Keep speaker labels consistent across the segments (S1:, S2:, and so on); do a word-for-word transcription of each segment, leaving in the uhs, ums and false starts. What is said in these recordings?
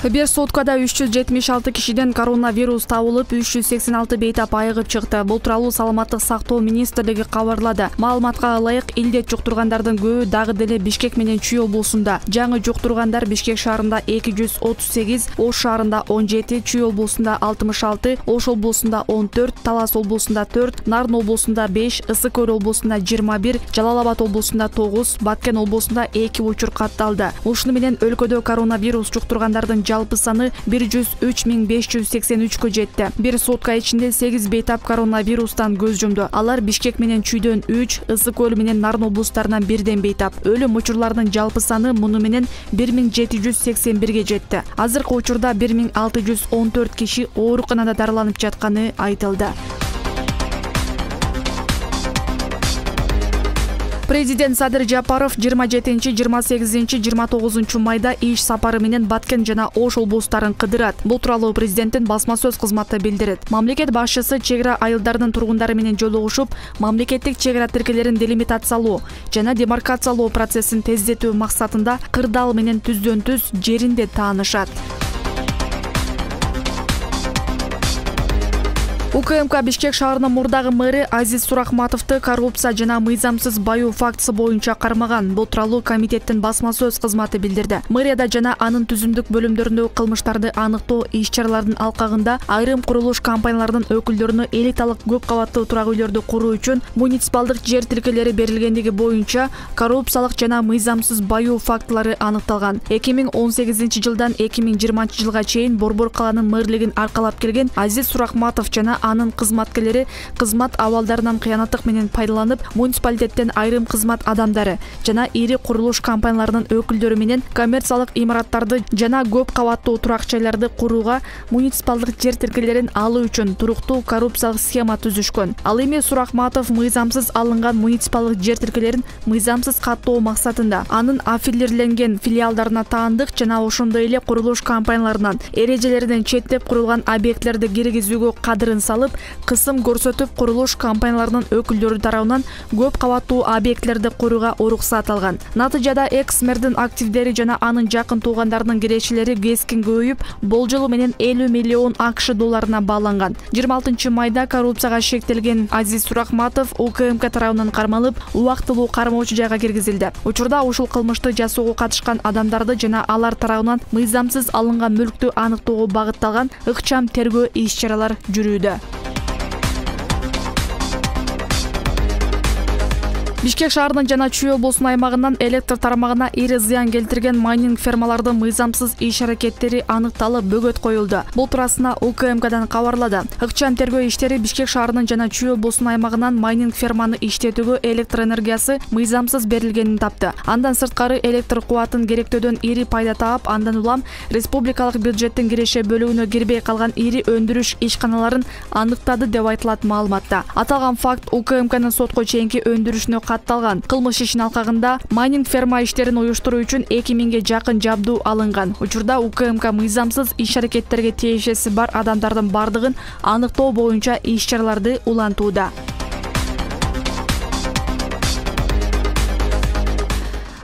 S1: Бир суткада үч жүз жетимиш алты кишиден коронавирус табылып, үч жүз сексен алты бейтап айыгып чыкты. Бул тууралуу Саламаттык сактоо министрлиги кабарлады. Маалыматка ылайык, илдет жуктургандардын көбү дагы деле Бишкек менен Чүй облусунда. Жаңы жуктургандар Бишкек шаарында эки жүз отуз сегиз, Ош шаарында он жети, Чүй облусунда алтымыш алты, Ош облусунда он төрт, Талас облусунда төрт, Нарын облусунда беш, Ысык Көл облусунда жыйырма бир, Жалал Абад облусунда тогуз, Баткен облусунда эки учур катталды. Ушуну менен өлкөдө коронавирус жуктургандардын жалпы саны бир жүз үч миң беш жүз сексен үчкө жетти. Бир сутка ичинде сегиз бейтап коронавирустан көз жумду. Алар Бишкек менен Чүйдөн үч, Ысык Көл менен Нарын облустарынан бирден бейтап. Өлүм учурларынын жалпы саны муну менен бир миң жети жүз сексен бирге жетти. Азыркы учурда бир миң алты жүз он төрт киши ооруканада дарыланып жатканы айтылды. Президент Садыр Жапаров жыйырма жетинчи, жыйырма сегизинчи, жыйырма тогузунчу майда иш сапары менен Баткен жана Ош облустарын кыдырат. Бул тууралуу президенттин басма сөз кызматы билдирет. Мамлекет башчысы чек ара айылдарынын тургундары менен жолугушуп, мамлекеттик чек ара тиркелерин делимитациялоо жана демаркациялоо процессин тездетүү максатында кырдаал менен түздөн түз жеринде таанышат. УКМК Бишкек шаарынын мурдагы мэри Азиз Сурахматовду коррупция жана мыйзамсыз баюу фактысы боюнча кармаган. Бул тууралуу комитеттин басма сөз кызматы билдирди. Мэрияда жана анын түзүмдүк бөлүмдөрүндө кылмыштарды аныктоо иш-чараларынын алкагында айрым курулуш компанияларынын өкүлдөрүнө элиталык көп кабаттуу турак үйлөрдү куруу үчүн муниципалдык жер тилкелери берилгендиги боюнча коррупциялык жана мыйзамсыз баюу фактылары аныкталган. эки миң он сегизинчи жылдан эки миң жыйырманчы жылга чейин Борбор каланын мэрлигин аркалап келген Азиз Сурахматов жана анын кызматкерлери кызмат абалдарынан кыянаттык менен пайдаланып, муниципалитеттен айрым кызмат адамдары жана ири курулуш компанияларынын өкүлдөрү менен коммерциялык имараттарды жана көп кабаттуу турак жайларды курууга муниципалдык жер тилкелерин алуу үчүн туруктуу коррупциялык схема түзүшкөн. Ал эми Сурахматов мыйзамсыз алынган муниципалдык жер тилкелерин мыйзамсыз каттоо максатында анын аффилирленген филиалдарына таандык жана ошондой эле курулуш компанияларынан эрежелеринен четтеп курулган объектилерди киргизүүгө кадырын салып, кысым көрсөтүп курулуш компанияларынын өкүлдөрү тарабынан көп кабаттуу объектилерди курууга уруксат алган. Натыйжада экс-мэрдин активдери жана анын жакын туугандарынын кирешелери кескин көбөйүп, болжолу менен элүү миллион АКШ долларына бааланган. жыйырма алтынчы майда коррупцияга шектелген Азиз Сурахматов УКМК тарабынан кармалып, убактылуу кармоочу жайга киргизилди. Учурда ушул кылмышты жасоого катышкан адамдарды жана алар тарабынан мыйзамсыз алынган мүлктү аныктоого багытталган ыкчам тергөө иш-чаралар жүрүүдө. Бишкек шаарынын жана Чүй облусунун аймагынан электр тармагына ири зыян келтирген майнинг фермалардын мыйзамсыз иш-аракеттери аныкталып, бөгөт коюлду. Бул туурасында УКМКдан кабарлады. Ыкчам тергөө иштери Бишкек шаарынын жана Чүй облусунун аймагынан майнинг ферманы иштетүүгө электр энергиясы мыйзамсыз берилгенин тапты. Андан сырткары электр кубатын керектөөдөн ири пайда таап, андан улам республикалык бюджеттин киреше бөлүгүнө кирбей калган ири өндүрүш ишканаларын аныктады деп айтылат маалыматта. Аталган факт УКМКнын сотко чейинки өндүрүшүнө катталган. Кылмыш ишинин алкагында майнинг ферма иштерин уюштуруу үчүн эки миңге жакын жабдуу алынган. Учурда УКМК мыйзамсыз иш-аракеттерге тиешеси бар адамдардын бардыгын аныктоо боюнча иш-чараларды улантууда.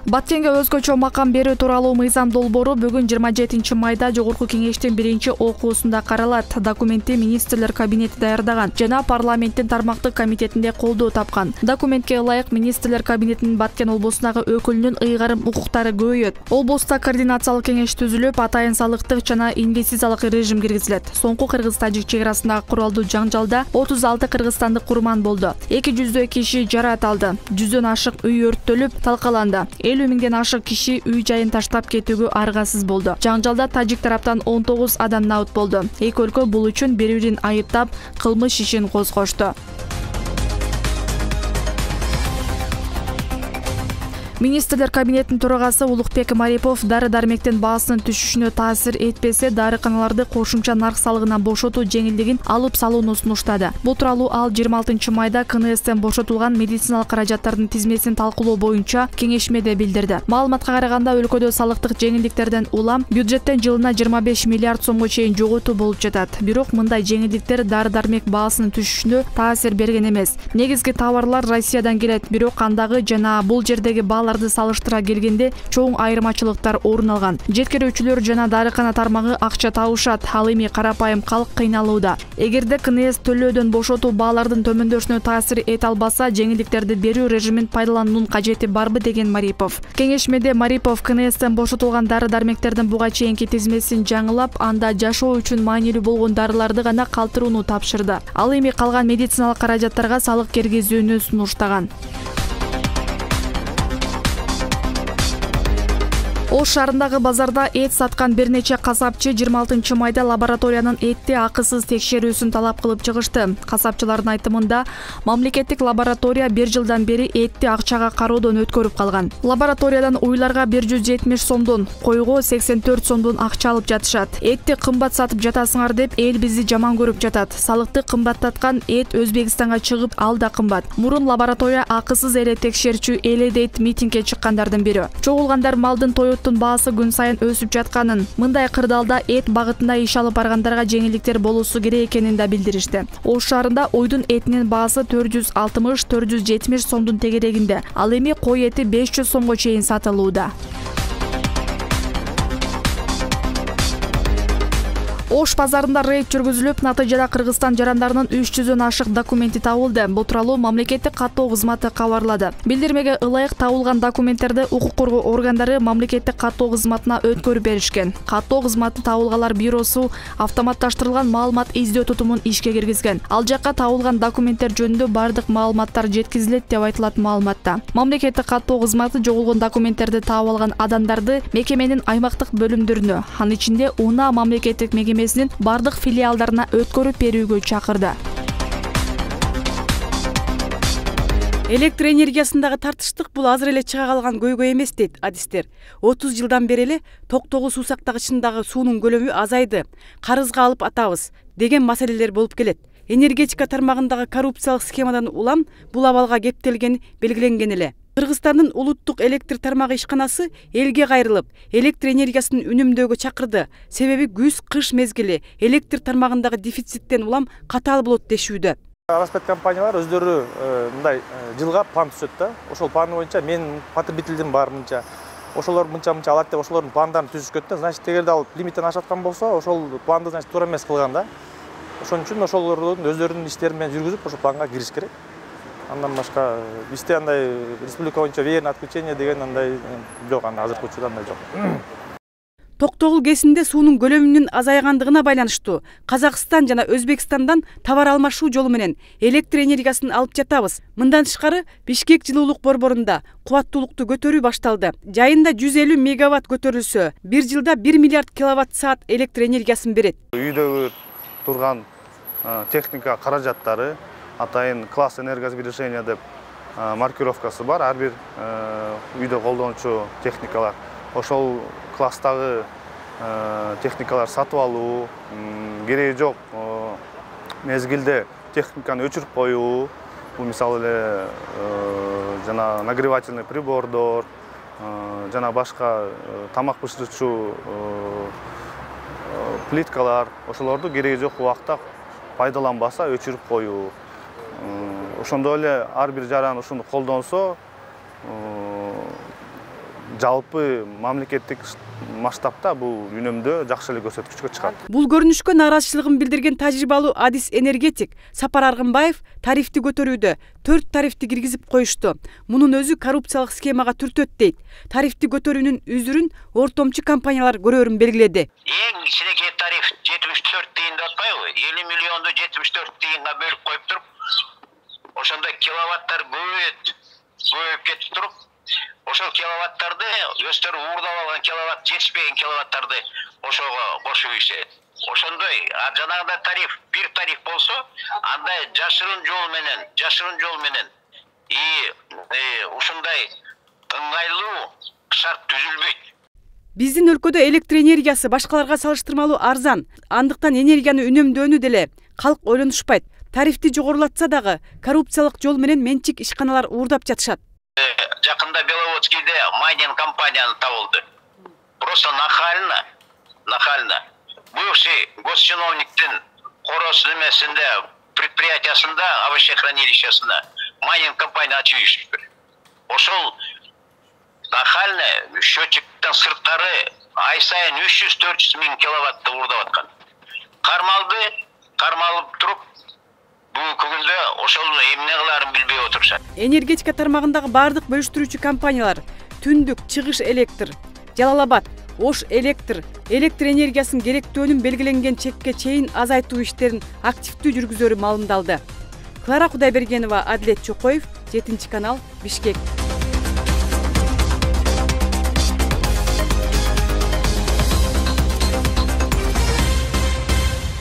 S1: Баткенге өзгөчө макам берүү тууралуу мыйзам долбоору бүгүн жыйырма жетинчи майда Жогорку кеңештин биринчи окуусунда каралат. Документти министрлер кабинети даярдаган жана парламенттин тармактык комитетинде колдоо тапкан. Документке ылайык министрлер кабинетинин Баткен облусундагы өкүлүнүн ыйгарым укуктары көбөйөт. Облуста координациялык кеңеш түзүлүп, атайын салыктык жана инвестициялык режим киргизилет. Соңку кыргыз-тажик чек арасындагы куралдуу жаңжалда отуз алты кыргызстандык курман болду. эки жүздөй киши жараат алды. жүздөн ашык үй өрттөлүп, талкаланды. элүү миңден ашык киши үй жайын таштап кетүүгө аргасыз болду. Жаңжалда тажик тараптан он тогуз адам набыт болду. Эки өлкө бул үчүн бири-бирин айыптап, кылмыш ишин козгошту. Министрлер кабинетинин төрагасы Улукбек Марипов дары-дармектин баасынын түшүшүнө таасир этпесе, дарыканаларды кошумча нарк салыгынан бошотуу жеңилдигин алып салууну сунуштады. Бул тууралуу ал жыйырма алтынчы майда КНСтен бошотулган медициналык каражаттардын тизмесин талкуулоо боюнча кеңешмеде билдирди. Маалыматка караганда, өлкөдө салыктык жеңилдиктерден улам бюджеттен жылына жыйырма беш миллиард сомго чейин жоготуу болуп жатат. Бирок мындай жеңилдиктер дары-дармек баасынын түшүшүнө таасир берген эмес. Негизги товарлар Россиядан келет, бирок андагы жана бул жердеги баалар компанияларды салыштыра келгенде чоң айырмачылыктар орун алган. Жеткирүүчүлөр жана дарыкана тармагы акча табышат, ал эми карапайым калк кыйналууда. Эгерде КНС төлөөдөн бошотуу баалардын төмөндөшүнө таасир эте албаса, жеңилдиктерди берүү режимин пайдалануунун кажети барбы деген Марипов. Кеңешмеде Марипов КНСтен бошотулган дары-дармектердин буга чейинки тизмесин жаңылап, анда жашоо үчүн маанилүү болгон дарыларды гана калтырууну тапшырды. Ал эми калган медициналык каражаттарга салык киргизүүнү сунуштаган. Ош шаарындагы базарда эт саткан бир нече касапчы жыйырма алтынчы майда лабораториянын этти акысыз текшерүүсүн талап кылып чыгышты. Касапчылардын айтымында, мамлекеттик лаборатория бир жылдан бери этти акчага кароодон өткөрүп калган. Лабораториядан уйларга бир жүз жетимиш сомдон, койго сексен төрт сомдон акча алып жатышат. Этти кымбат сатып жатасыңар деп эл бизди жаман көрүп жатат. Салыкты кымбаттаткан эт Өзбекстанга чыгып, ал да кымбат. Мурун лаборатория акысыз эле текшерчү эле дейт митингге чыккандардын бири. Чогулгандар малдын тою баасы күн сайын өсүп жатканын, мындай кырдаалда эт багытында иш алып баргандарга жеңилдиктер болуусу керек экенин да билдиришти. Ош шаарында уйдун этинин баасы төрт жүз алтымыш — төрт жүз жетимиш сомдун тегерегинде. Ал эми кой эти беш жүз сомго чейин сатылууда. Ош базарында рейд жүргүзүлүп, натыйжада Кыргызстан жарандарынын үч жүздөн ашык документи табылды. Бул тууралуу мамлекеттик каттоо кызматы кабарлады. Билдирмеге ылайык табылган документтерди укук коргоо органдары мамлекеттик каттоо кызматына өткөрүп беришкен. Каттоо кызматы табылгалар бюросу автоматташтырылган маалымат издөө тутумун ишке киргизген. Ал жакка табылган документтер жөнүндө бардык маалыматтар жеткизилет деп айтылат маалыматта. Мамлекеттик каттоо кызматы жоголгон документтерди таап алган адамдарды мекеменин аймактык бөлүмдөрүнө, анын ичинде УНА мамлекеттик мекеме бардык филиалдарына өткөрүп берүүгө чакырды.
S2: Электр энергиясындагы тартыштык бул азыр эле чыга калган көйгөй эмес дейт адистер. отуз жылдан бери эле Токтогул суу сактагычындагы суунун көлөмү азайды, карызга алып атабыз деген маселелер болуп келет. Энергетика тармагындагы коррупциялык схемадан улам бул абалга кептелгени белгиленген эле. Кыргызстандын улуттук электр тармагы ишканасы элге кайрылып, электр энергиясын үнөмдөөгө чакырды. Себеби күз-кыш мезгили электр тармагындагы дефициттен улам катаал болот дешүүдө.
S3: Распет компаниялар өздөрү мындай жылга план түзөт да. Ошол план боюнча мен потребителдин бар мынча, ошолор мынча-мынча алат деп ошолордун пландарын түзүшкөн да. Значит, эгерде ал лимиттен ашаткан болсо, ошол планды значит туура эмес кылган да. Ошон үчүн ошолордун өздөрүнүн иштерин менен жүргүзүп, ошол планга кириш керек. Андан башка бизде андай республика боюнча веерное отключение деген андай жок, анда азыркы учурда андай жок.
S2: Токтогул кесинде суунун көлөмүнүн азайгандыгына байланыштуу Казакстан жана Өзбекстандан товар алмашуу жолу менен электр энергиясын алып жатабыз. Мындан тышкары Бишкек жылуулук борборунда кубаттуулукту көтөрүү башталды. Жайында жүз элүү мегаватт көтөрүлсө, бир жылда бир миллиард киловатт саат электр энергиясын берет.
S4: Үйдөгү турган техника каражаттары атайын класс энергосбережения деп маркировкасы бар. Ар бир үйдө колдонуучу техникалар. Ошол класстагы техникалар сатып алуу, кереги жок мезгилде техниканы өчүрүп коюу, бул мисалы эле жана нагревательный прибордор, жана башка тамак бышырчу плиткалар, ошолорду кереги жок убакта пайдаланбаса өчүрүп коюу. Ошондой эле ар бир жаран ушуну колдонсо, жалпы мамлекеттик масштабта бул үнөмдө жакшы эле көрсөткүчкө чыгат.
S2: Бул көрүнүшкө нааразычылыгын билдирген тажрыйбалуу адис энергетик Сапар Аргынбаев тарифти көтөрүүдө төрт тарифти киргизип коюшту. Мунун өзү коррупциялык схемага түртөт дейт. Тарифти көтөрүүнүн үзүрүн ортомчу компаниялар көрөрүн белгиледи.
S5: Эң кичинекей тариф жетимиш төрт тыйын деп атпайбы? элүү миллионду жетимиш төрт тыйынга бөлүп коюп туруп, ошондо киловаттар көбөйөт, көбөйүп кетип туруп, ошол киловаттарды өздөрү уурдап алган киловатт, жетишпеген киловаттарды ошого кошуп ийишет. Ошондой жанагындай тариф, бир тариф болсо, анда жашырын жол менен, жашырын жол менен и ушундай ыңгайлуу шарт түзүлбөйт.
S2: Биздин өлкөдө электр энергиясы башкаларга салыштырмалуу арзан. Андыктан энергияны үнөмдөөнү деле калк ойлонушпайт. Тарифти жогорулатса дагы коррупциялык жол менен менчик ишканалар уурдап жатышат.
S5: Жакында Беловодскийде майнинг компанияны табылды. Просто нахально, нахально. Бывший госчиновниктин короосу немесинде предприятиясында, овощехранилищесинде майнинг компания ачып ийишти. Ошол нахально счетчиктен сырткары ай сайын үч жүз төрт жүз миң киловаттты уурдап аткан. Кармалды, кармалып туруп, бүгүнкү күндө ошол эмне кылаарын билбей отурушат.
S2: Энергетика тармагындагы бардык бөлүштүрүүчү компаниялар Түндүк, Чыгыш электр, Жалал Абад, Ош электр, электр энергиясын керектөөнүн белгиленген чекке чейин азайтуу иштерин активдүү жүргүзөрү маалымдалды. Клара Кудайбергенова, Адилет Чокоев, жетинчи канал, Бишкек.